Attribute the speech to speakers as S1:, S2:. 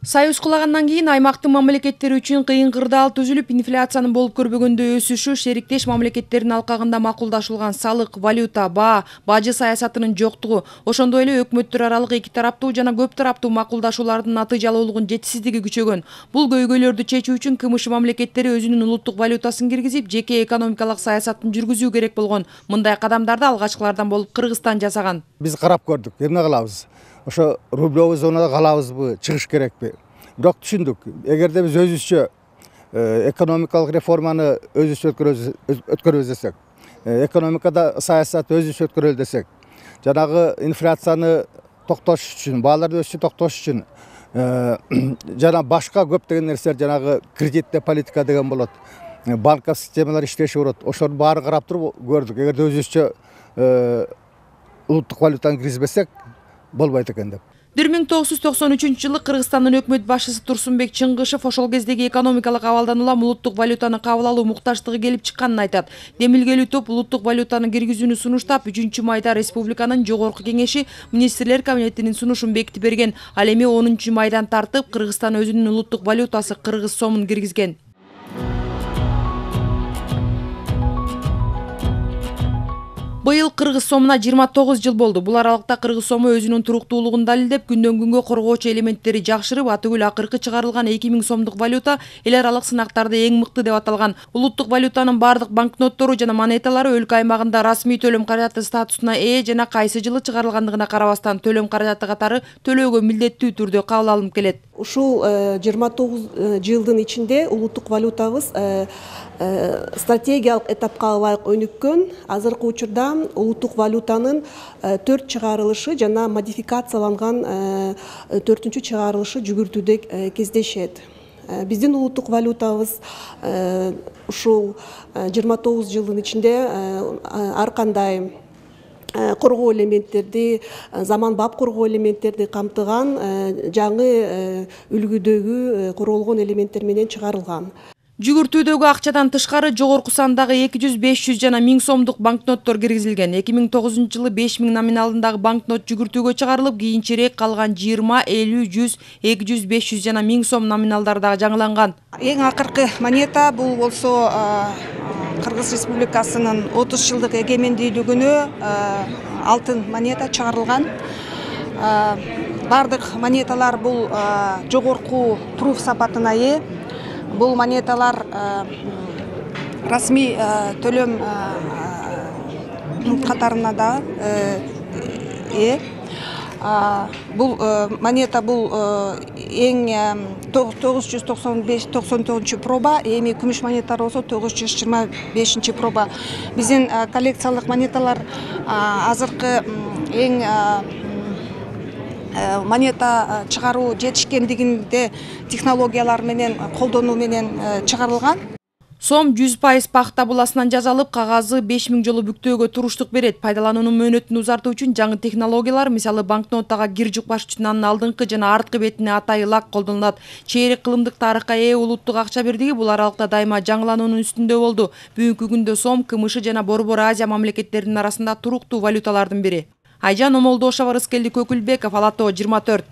S1: Союз кулагандан кийин аймактын мамлекеттери үчүн кыйын кырдаал түзүлүп, инфляциянын болуп көрбөгөндөй өсүшү шериктеш мамлекеттердин алкагында макулдашылган салык, валюта, баа, бажы саясатынын жоктугу, ошондой эле өкмөттөр аралык эки тараптуу жана көп тараптуу макулдашуулардын натыйжалуулугунун жетишсиздиги күчөгөн. Бул көйгөйлөрдү чечүү үчүн КМШ мамлекеттери өзүнүн улуттук валютасын киргизип, жеке экономикалык саясатын жүргүзүү керек болгон. Мындай кадамдарды алгачкылардан болуп Кыргызстан жасаган.
S2: Биз карап көрдүк, эмне кылабыз? Ошо рублевый зонада калабызбы, чыгыш керекпи? Бирок түшүндүк, эгерде биз өзүбүзчө экономикалык реформаны өзүбүз өткөрөбүз десек, экономикада саясатты өзүбүз өткөрөлү десек, жанагы инфляцияны токтош үчүн, бааларды өсүшүн токтош үчүн жана башка көптөгөн нерселер, жанагы кредитте политика деген болот, банковский системалар иштеши болот. Ошолордун баарын карап туруп көрдүк. Эгерде өзүбүзчө улуттук валютаны киргизбесек болбойт экен деп.
S1: 1993-жылы Кыргызстандын өкмөт башчысы Турсунбек Чыңгышев ошол кездеги экономикалык абалдан улам улуттук валютаны кабыл алуу муктаждыгы келип чыкканын айтат. Демилгелүү топ улуттук валютаны киргизүүнү сунуштап, 3-майда республиканын жогорку кеңеши министрлер кабинетинин сунушун бекитип берген. Ал эми 10-майдан тартып Кыргызстан өзүнүн улуттук валютасы кыргыз сомун киргизген. Быйыл кыргыз сомуна 29 жыл болду. Бул аралыкта кыргыз сому өзүнүн туруктуулугун далилдеп, күндөн күнгө коргоочу элементтери жакшырып, атүгүл акыркы чыгарылган 2000 сомдук валюта эл аралык сынактарда эң мыкты деп аталган. Улуттук валютанын бардык банкноттору жана монеталары өлкө аймагында расмий төлөм каражаты статусуна ээ жана кайсы жылы чыгарылгандыгына карабастан төлөм каражаты катары төлөөгө милдеттүү түрдө кабыл алынып келет.
S3: Ушул 29 жылдын ичинде улуттук валютабыз стратегиялык этапка ылайык өнүккөн. Азыркы учурда улуттук валютанын 4 чыгарылышы жана модификацияланган 4-чү чыгарылышы жүгүртүүдө кездешет. Биздин улуттук валютабыз ушул 29 жылдын ичинде ар кандай коргоо элементтерди, заманбап коргоо элементтерди камтыган жаңы үлгүдөгү корголгон элементтер менен чыгарылган.
S1: Жүгүртүүдөгү акчадан тышкары жогорку сандагы 200, 500 жана 1000 сомдук банкноттор киргизилген. 2009-жылы 5000 номиналындагы банкнот жүгүртүүгө чыгарылып, кийинчерээк калган 20, 50, 100, 200, 500 жана 1000 сом номиналдары дагы жаңыланган.
S4: Эң акыркы монета бул болсо Кыргыз Республикасынын 30 жылдык эгемендүүлүгүнө алтын монета чыгарылган. Бардык монеталар бул жогорку пруф сапатына ээ. Бул монеталар расмий төлөм катарына да ээ. Бул монета бул эң 995-99 проба, эми күмүш монеталар болсо 925 проба. Биздин коллекциялык монеталар азыркы эң монета чыгаруу жетишкендигинде технологиялар менен колдонуу менен чыгарылган.
S1: Сом 100% пахта буласынан жасалып, кагазы 5000 жолу бүктөөгө туруштук берет. Пайдалануунун мөөнөтүн узартуу үчүн жаңы технологиялар, мисалы банкнотага кир жукпаш үчүн анын алдыңкы жана арткы бетине атайы лак колдонулат. Чейрек кылымдык тарыхка ээ улуттук акча бирдиги бул аралыкта дайыма жаңылануунун үстүндө болду. Бүгүнкү күндө сом КМШ жана Борбор Азия мамлекеттеринин арасында туруктуу валюталардын бири. Айжан Омолдошова, Рыскелди Көкүлбеков, Ала Тоо 24.